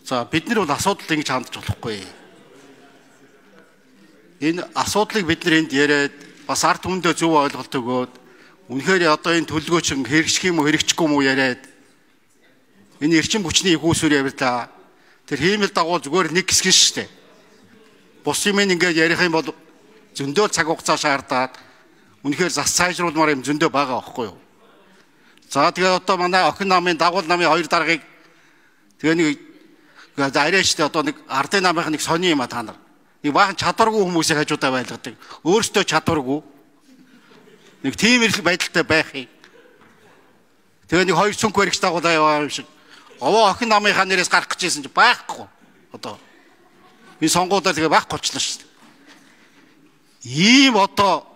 За бид нар бол асуудал ингэж хандж болохгүй. Энэ асуудлыг бид нар энд яриад бас ард түмэндээ зөв ойлголт өгөөд үнэхээр одоо энэ төлөвлөгөөч хэрэгжих юм уу хэрэгжихгүй юм уу яриад энэ эрчим хүчний ихүүсвэр явуулаа. Тэр хиймэл дагуу зүгээр нэг хэсэг шүү дээ. Бус юм ингээд ярих юм бол зөндөө цаг хугацаа шаардаад үнэхээр зас сайжруулмаар юм зөндөө байгаа байхгүй юу? За тэгээ одоо манай охин намын дагуул намын хоёр даргаыг тэгээ нэг арайчтай одоо нэг ардын намынх нэг сони юм а та нар. Нэг баахан чадваргүй хүмүүсийг хажуудаа байлгадаг. Өөрсдөө чадваргүй. Нэг тийм байдалтай байхыг. Тэгээ нэг хоёр цүнх баригч дагуулаа яваа юм шиг. Овоо охин намынхаа нэрээс гарах гэжсэн чи байхгүй. Одоо энэ сонгуудаар тэгээ байхгүй болчихлоо шүү дээ. Ийм одоо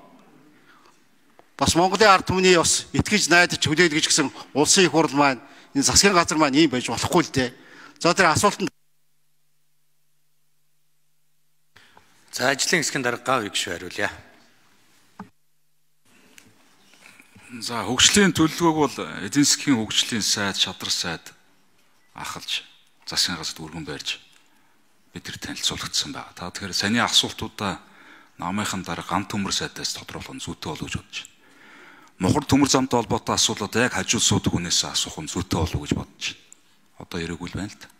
бас Монголын ард түмний бас итгэж найдаж хүлээлгэж гисэн улсын их хурл маань энэ засгийн газар маань ийм байж болохгүй л дээ. За тэр асуултанд за ажлын хэсгийн дарга гав гişүү хариулъя. За хөгжлийн төлөвлөгөөг бол эдийн засгийн хөгжлийн сайд, шадар сайд ахалж засгийн газарт өргөн барьж бидний танилцуулагдсан байна. Та тэгэхээр саний асуултуудаа намынхан дарга ган төмөр сайдаас тодруулах нь зүйтэй болов гэж бодож байна. Мухар төмөр замтай холбоотой асуудлууд яг хажууд суудаг хүнээс асуух нь зүйтэй болов гэж бодож байна. Одоо яриаг үл байна л та.